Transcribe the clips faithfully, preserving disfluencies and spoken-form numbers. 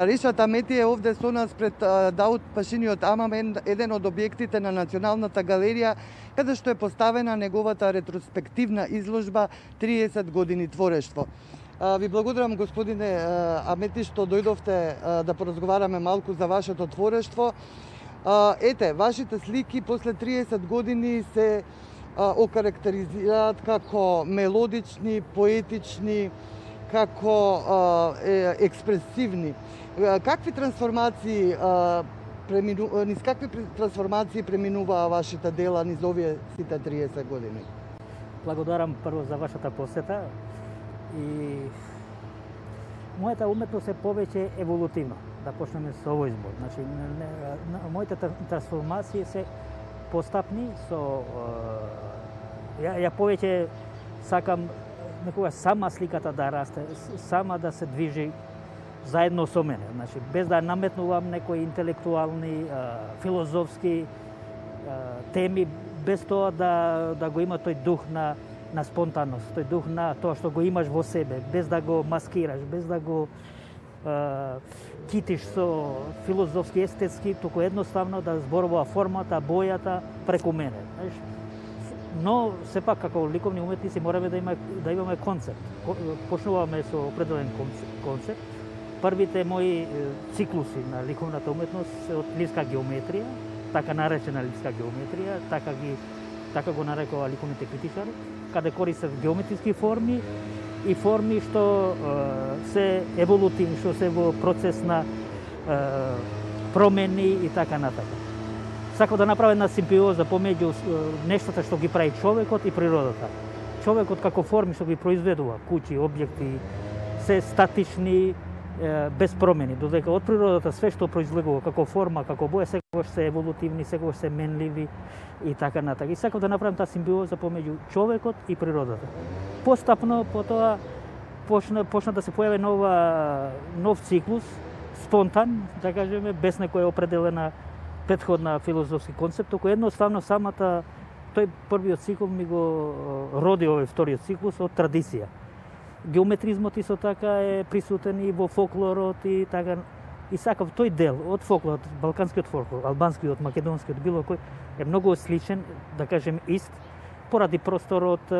Ришат Амети е овде со нас пред Даут Пашиниот Амам, еден од објектите на Националната галерија, каде што е поставена неговата ретроспективна изложба триесет години творештво. Ви благодарам, господине Амети, што дојдовте да поразговараме малку за вашето творештво. Ете, вашите слики после триесет години се окарактеризираат како мелодични, поетични, како е, експресивни. Какви трансформации премину... низ какви трансформации преминуваа вашите дела низ овие сите триесет години? Благодарам прво за вашата посета и мојата уметност е повеќе еволутивна. Да почнеме со овој збор. Значи, моите трансформации се постапни со ја, ја повеќе сакам некогаш сама сликата да расте, сама да се движи заедно со мене. Значи, без да наметнувам некои интелектуални, филозофски теми, без тоа да, да го има тој дух на, на спонтанност, тој дух на тоа што го имаш во себе, без да го маскираш, без да го а, китиш со филозофски, естетски, туку едноставно да зборува формата, бојата преку мене. Знаеш, но сепак како ликовни уметници мораме да има да имаме концепт. Почнуваме со определен концепт. Првите мои циклуси на ликовната уметност се од лиска геометрија, така наречена лиска геометрија, така ги така го нарекува ликовните критичари, каде користат геометриски форми и форми што е, се еволутивни, што се во процес на е, промени и така натака. Сакам да направам една симбиоза помеѓу нештата што ги прави човекот и природата. Човекот како форми што ги произведува, куќи, објекти, се статични, без промени, додека од природата све што произлегува како форма, како боја, секогаш се еволутивни, секогаш се менливи и така натака. И сакам да направам таа симбиоза помеѓу човекот и природата. Постапно потоа почна почна да се појави нова нов циклус, спонтан, да кажеме, без некоја определена претходна филозофски концепт, току едноставно самата тој првиот циклус ми го роди овој вториот циклус од традиција. Геометризмот исто така е присутен и во фолклорот и така. И сакав тој дел од фолклорот, балканскиот фолклор, албанскиот, македонскиот, било кој е многу сличен, да кажем, ист, поради просторот,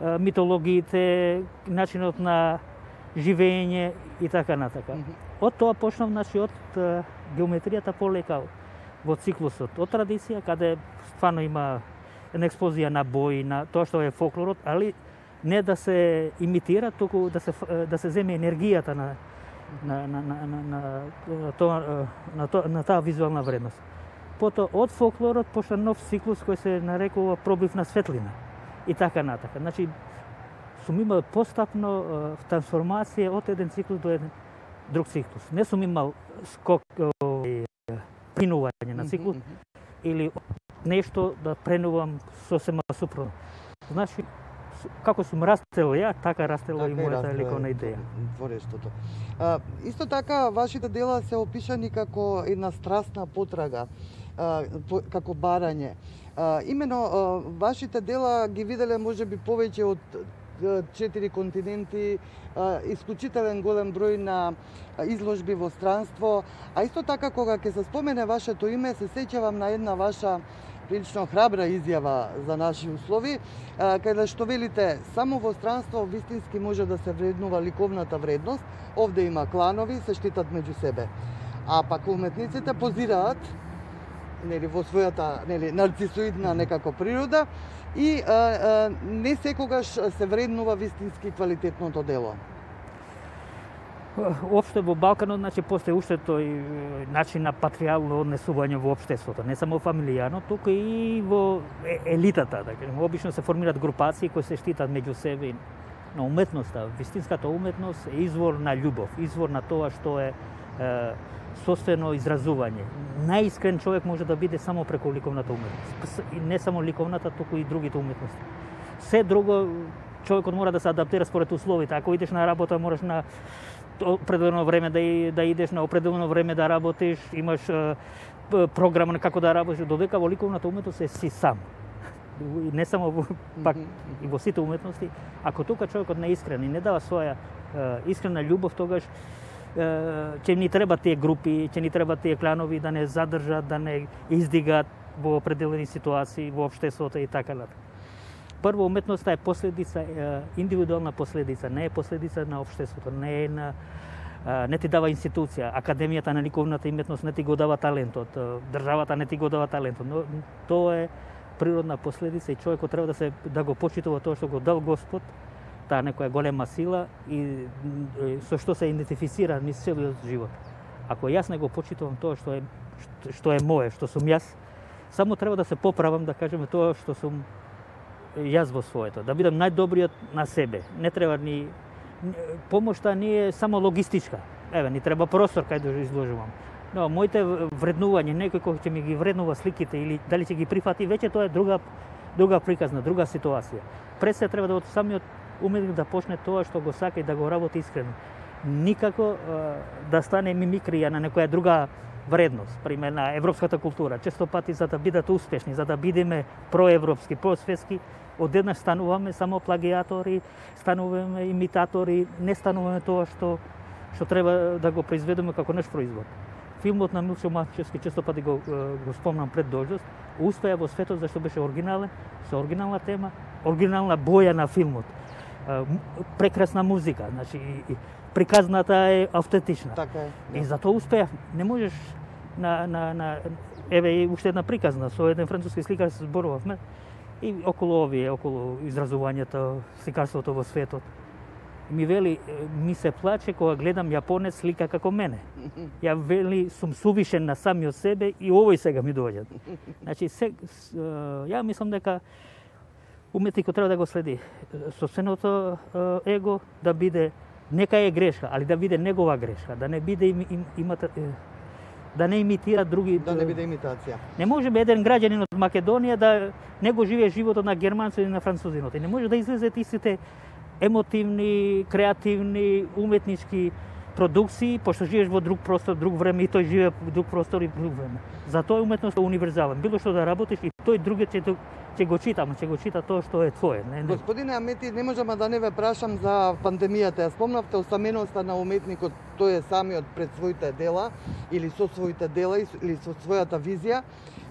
митологиите, начинот на живење и така натака. Mm -hmm. Од тоа почнав, значи, од геометријата полека во циклусот од традиција, каде стварно има една експозија на бои, на тоа што е фолклорот, али не да се имитира, туку да се да се земе енергијата на на на на на на тоа на тоа на таа визуелна вредност. Потоа од фолклорот почна нов циклус кој се нарекува пробив на светлина и така натака. Значи сум имал постапно трансформација од еден циклус до еден друг циклус. Не сум имал скок принување на циклус mm -hmm. или нешто да пренувам сосема супротно. Значи како сум растел ја, така растела така и мојата ликовна идеја. Творештото. А, исто така, вашите дела се опишани како една страстна потрага, а, по, како барање. А, имено, а, вашите дела ги виделе можеби повеќе од четири континенти, а, исклучителен голем број на изложби во странство, а исто така кога ќе се спомене вашето име, се сеќавам на една ваша прилично храбра изјава за наши услови, каде што велите само во странство вистински може да се вреднува ликовната вредност, овде има кланови, се штитат меѓу себе. А пак уметниците позираат нели во својата нели нарцисоидна некако природа и а, а, не секогаш се вреднува вистински квалитетното дело. Опште во Балканот, значи, постои уште тој начин на патријално однесување во општеството, не само фамилијарно, туку и во елитата, да кажем. Обично се формираат групации кои се штитат меѓу себе. Но уметноста, вистинската уметност е извор на љубов, извор на тоа што е, е собствено изразување. Најискрен човек може да биде само преку ликовната уметност. И не само ликовната, туку и другите уметности. Се друго, човекот мора да се адаптира според условите. Ако идеш на работа, мораш на определено време да, и, да идеш, на определено време да работиш, имаш е, програма на како да работиш, додека во ликовната уметност е си сам. И не само во, пак и во сите уметности. Ако тука човекот не е искрен и не дава своја е, искрена љубов, тогаш ќе ни треба тие групи, ќе ни треба тие кланови да не задржат, да не издигат во определени ситуации во општеството и така натаму. Прво, уметноста е последица, индивидуална последица, не е последица на општеството, не е на не ти дава институција, академијата на ликовната уметност не ти го дава талентот, државата не ти го дава талентот, но тоа е природна последица и човекот треба да се да го почитува тоа што го дал Господ, таа некоја голема сила и со што се идентифицира низ целиот живот. Ако јас не го почитувам тоа што е што е мое, што сум јас, само треба да се поправам, да кажеме тоа што сум јас во своето, да бидам најдобриот на себе. Не треба ни помошта не е само логистичка. Еве, ни треба простор кај да изложувам. Но моите вреднување, некој кој ќе ми ги вреднува сликите или дали ќе ги прифати, веќе тоа е друга друга приказна, друга ситуација. Пред се треба да од самиот уметник да почне тоа што го сака и да го работи искрено. Никако да стане мимикрија на некоја друга вредност, пример на европската култура. Често пати за да бидат успешни, за да бидеме проевропски, просветски, одеднаш стануваме само плагиатори, стануваме имитатори, не стануваме тоа што што треба да го произведеме како наш производ. Филмот на Милчо Мачевски, често пати го, го спомнам пред дојдост, успеа во светот зашто беше оригинален, со оригинална тема, оригинална боја на филмот, прекрасна музика, значи приказната е автентична. Така е. И затоа успеа. Не можеш на на на еве уште една приказна со еден француски сликар се зборувавме и околу овие, околу изразувањето, сликарството во светот. Ми вели, ми се плаче кога гледам јапонец слика како мене. Ја вели, сум сувишен на самиот себе и овој сега ми доаѓа. Значи, се, ја мислам дека уметникот треба да го следи собственото его, да биде, нека е грешка, али да биде негова грешка, да не биде им, им, имата, да не имитира други. Да не биде имитација. Не може еден граѓанин од Македонија да не го живее животот на германцот или на французинот. И не може да излезат истите емотивни, креативни, уметнички продукции, пошто живееш во друг простор, друг време и тој живее во друг простор и друг време. Затоа уметноста е универзален. Било што да работиш и тој другиот ќе ќе го чита, ама ќе го чита тоа што е твое. Не, не. Господине Амети, не можам да не ве прашам за пандемијата. Ја спомнавте осаменоста на уметникот, тој е самиот пред своите дела или со своите дела или со својата визија.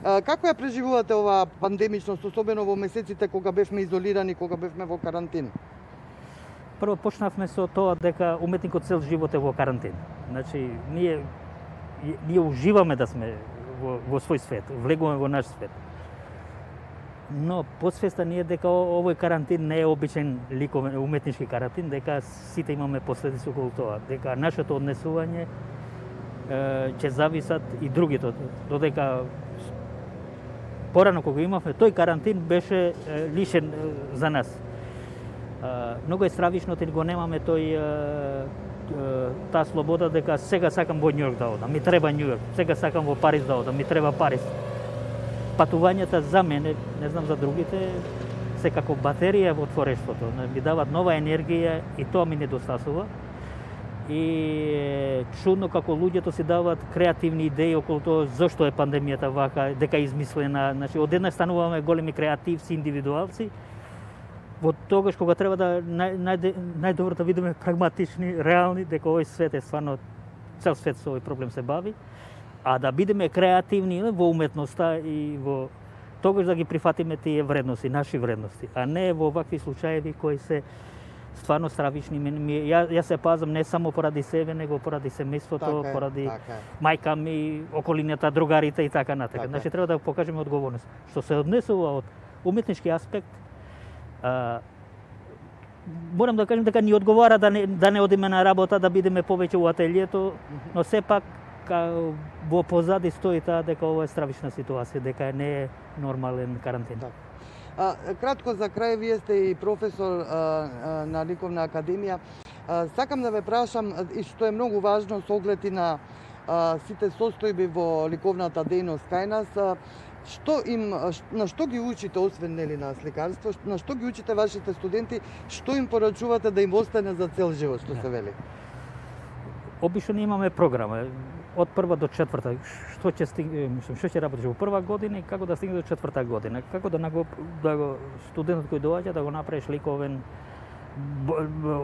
Како ја преживувате оваа пандемичност, особено во месеците кога бевме изолирани, кога бевме во карантин? Прво почнавме со тоа дека уметникот цел живот е во карантин. Значи, ние ние уживаме да сме во, во свој свет, влегуваме во наш свет. Но подсвеста ни е дека овој карантин не е обичен ликовен уметнички карантин, дека сите имаме последици околу тоа, дека нашето однесување е, ќе зависат и другите, додека порано кога имавме тој карантин беше е, лишен е, за нас. Uh, многу е стравишно те го немаме тој uh, uh, таа слобода дека сега сакам во Њујорк да одам, ми треба Њујорк, сега сакам во Париз да одам, ми треба Париз. Патувањата за мене, не знам за другите, се како батерија во творештвото, ми дават нова енергија и тоа ми недостасува. И чудно како луѓето си дават креативни идеи околу тоа зошто е пандемијата вака, дека е измислена, значи одеднаш стануваме големи креативци, индивидуалци. Во тогаш кога треба да нај, нај, најдобро да видиме прагматични, реални, дека овој свет е стварно, цел свет со овој проблем се бави, а да бидеме креативни во уметноста и во тогаш да ги прифатиме тие вредности, наши вредности, а не во вакви случаеви кои се стварно стравични. Ја, ја се пазам не само поради себе, него поради семејството, така поради така мајка ми, околината, другарите и така натака. Така. Значи треба да покажеме одговорност. Што се однесува од уметнички аспект, А, морам да кажем дека ни одговара да не, да не одиме на работа, да бидеме повеќе во ателието, но сепак ка, во позади стои таа дека ова е стравична ситуација, дека не е нормален карантин. Так. А, кратко за крај, вие сте и професор а, а, на Ликовна академија. А, сакам да ве прашам, и што е многу важно со оглед и на а, сите состојби во ликовната дејност кај нас, а, што им, на што ги учите, освен нели на сликарство, на што ги учите вашите студенти, што им порачувате да им остане за цел живот, што се вели? Обично не имаме програма од прва до четврта, што ќе стигне, мислам, што ќе работиш во прва година и како да стигне до четврта година, како да го да го студентот кој доаѓа да го направиш ликовен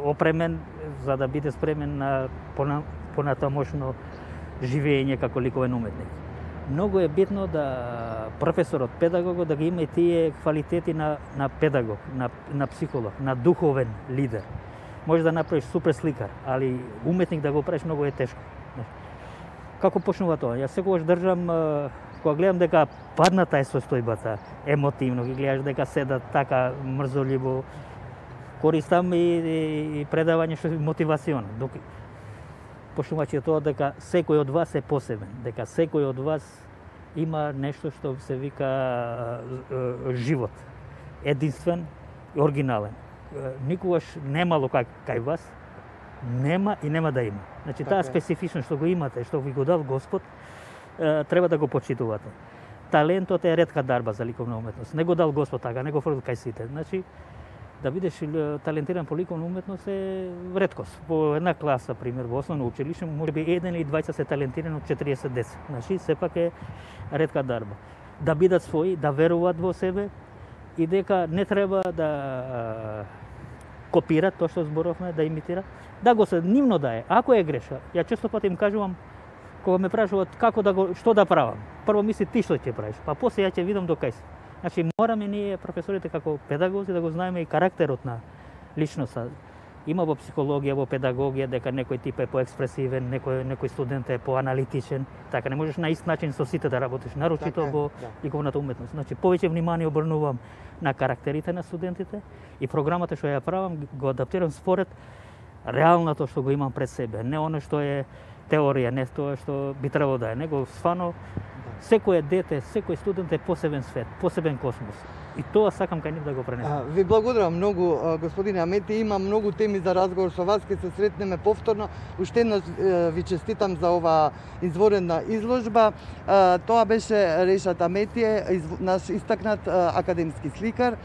опремен за да биде спремен на понатамошно живење како ликовен уметник. Многу е битно да професорот, педагогот да ги има и тие квалитети на, на педагог, на, на психолог, на духовен лидер. Може да направиш супер сликар, али уметник да го правиш многу е тешко. Како почнува тоа? Јас секогаш држам, кога гледам дека падната е состојбата, емотивно, ги гледаш дека седат така мрзоливо, користам и, и, и предавање што е мотивационо. Док почнувачи тоа дека секој од вас е посебен, дека секој од вас има нешто што се вика живот, единствен и оригинален. Никогаш немало кај, кај вас, нема и нема да има. Значи таа специфичност што го имате, што ви го дал Господ, треба да го почитувате. Талентот е ретка дарба за ликовна уметност. Не го дал Господ така, не го фрли кај сите. Значи да бидеш талентиран по ликовна уметност е реткост. По една класа, пример, во основно училиште, може би еден или двајца се талентирани од четириесет деца. Значи сепак е ретка дарба. Да бидат своји, да веруваат во себе и дека не треба да копират тоа што зборовме, да имитира, да го се нивно да е. Ако е греша, ја често пати им кажувам, кога ме прашуваат како да го, што да правам, прво мисли ти што ќе правиш, па после ја ќе видам до кај се. Значи мораме ние професорите како педагози да го знаеме и карактерот на личноста. Има во психологија, во педагогија дека некој тип е поекспресивен, некој некој студент е поаналитичен, така не можеш на ист начин со сите да работиш, нарочито така, во да. Ликовната уметност. Значи повеќе внимание обрнувам на карактерите на студентите и програмата што ја правам го адаптирам според реалното што го имам пред себе, не оно што е теорија, не тоа што би требало да е, него свано секој дете, секој студент е посебен свет, посебен космос. И тоа сакам кај нив да го пренесам. Ви благодарам многу, господине Амети. Има многу теми за разговор со вас, ќе се сретнеме повторно. Уште еднаш ви честитам за оваа изворена изложба. Тоа беше Решат Аметије, наш истакнат академски сликар.